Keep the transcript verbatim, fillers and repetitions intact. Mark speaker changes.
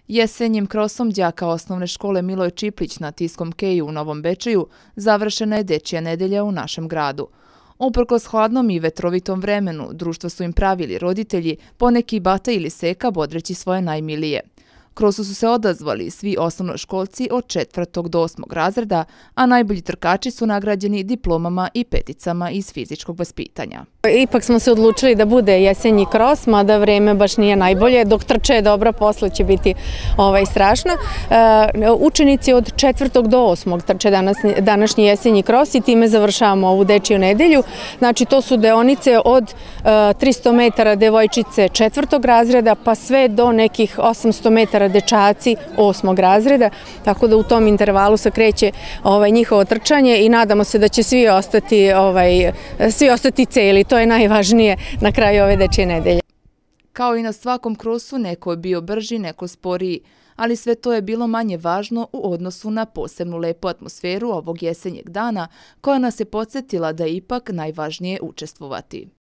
Speaker 1: Jesenjim krosom đaka osnovne škole Miloj Čiplić na Tiskom keju u Novom Bečeju završena je dečija nedelja u našem gradu. Uprkos hladnom i vetrovitom vremenu, društvo su im pravili roditelji, poneki bata ili seka bodreći svoje najmilije. Krosu su se odazvali svi osnovnoškolci od četvrtog do osmog razreda, a najbolji trkači su nagrađeni diplomama i peticama iz fizičkog vaspitanja.
Speaker 2: Ipak smo se odlučili da bude jesenji kros, mada vreme baš nije najbolje. Dok trče je dobro, posle će biti ovaj, strašno. E, učenici od četvrtog do osmog trče danas, današnji jesenji kros i time završavamo ovu dečiju nedelju. Znači to su deonice od e, tristo metara devojčice četvrtog razreda pa sve do nekih osamsto metara dečaci osmog razreda. Tako da u tom intervalu se kreće ovaj, njihovo trčanje i nadamo se da će svi ostati, ovaj, svi ostati celi. To je najvažnije na kraju ove dečje nedelje.
Speaker 1: Kao i na svakom krosu, neko je bio brži, neko sporiji, ali sve to je bilo manje važno u odnosu na posebnu lepu atmosferu ovog jesenjeg dana, koja nas je podsjetila da je ipak najvažnije učestvovati.